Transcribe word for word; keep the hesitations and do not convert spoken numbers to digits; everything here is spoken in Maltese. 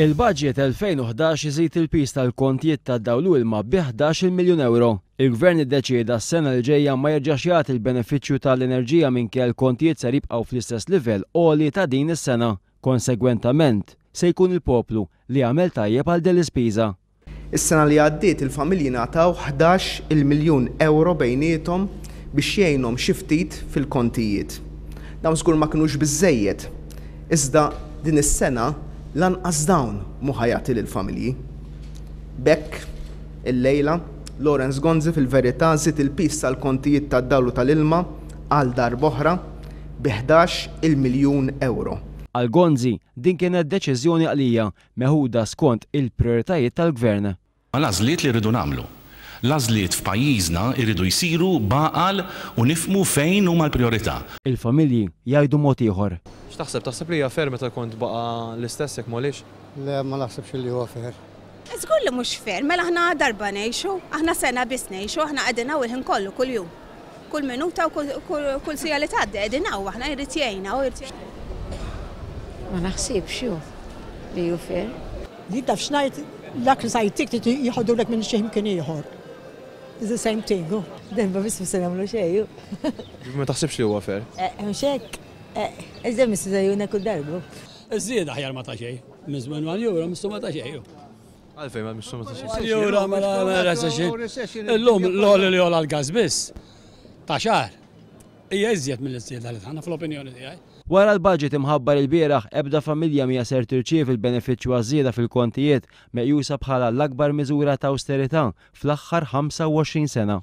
Il-budget elfejn u ħdax iżid il-piż tal-kontijiet tad-dawl u ilma bi ħdax-il miljun euro. Il-gvern iddeċieda s-sena li ġejja ma jerġax jagħti l-benefiċċju tal-enerġija minkejja l-kontijiet ser jibqgħu fl-istess livell għoli ta' din is-sena. Konsegwentament, se jkun il-poplu li għamel tajjeb għal din l-ispiża. Is-sena li għaddiet il-familji ngħataw ħdax il miljun euro bejniethom biex jgħinhom xi ftit fil-kontijiet. Dawn żgur ma kinux biżżejjed, iżda din is-sena lanqas dawn mhu ħa jagħti lill-familji. B'hekk, illejla, Lawrence Gonzi fil-verità żied il-piż tal-kontijiet tad-dawl u tal-ilma għal darb'oħra bi ħdax il miljun euro. Għal Gonzi, din kienet deċiżjoni għaqlija meħuda skont il-prioritajiet tal-gvern. L-għażliet li rridu nagħmlu. L-għażliet f'pajjiżna jridu jsiru b'għaqal u nifhmu fejn huma l-priorità. Il-familji jgħidu mod ieħor. X'taħseb? Taħseb li hija fair meta kont baqa' l-istess jekk m'għolix? Le, ma naħsibx li huwa fair. Żgur li mhux fair, mela aħna darba ngħixu, aħna sena biss ngħixu, aħna qegħdin hawn il-ħin kollu kuljum. Kull minuta u kull, kull, kull sija li tgħaddi qegħdin hawn, aħna jrid jgħinna u jrid jgħinna. Ma naħsibx hu li hu fair. Li taf x'ngħid, dak li sajtik trid jieħodulek minn xi mkien ieħor. It's the same thing. Darba biss ma se nagħmlu xejn. Ma taħsibx li huwa fair? Eh, mhux hekk. Eh, iżda missu żejjuna kull darba. Iż-żieda aħjar ma ta' xejn. Minn żmien one euro missu ma ta' xejn. Għalfejn ma missu ma ta' xejn. One euro ma la recession. Illum l-għoli li għola l-gas biss ta' xahar. Hija iżjed mill-iżjeda li tagħna fl-opinjoni tiegħi. Wara l-budget imħabbar il-bieraħ, ebda familja mija ser tirċievi l-benefiċċju għaż-żieda fil-kontijiet meqjusa bħala l-akbar miżura ta' austerità fl-aħħar ħamsa u għoxrin sena.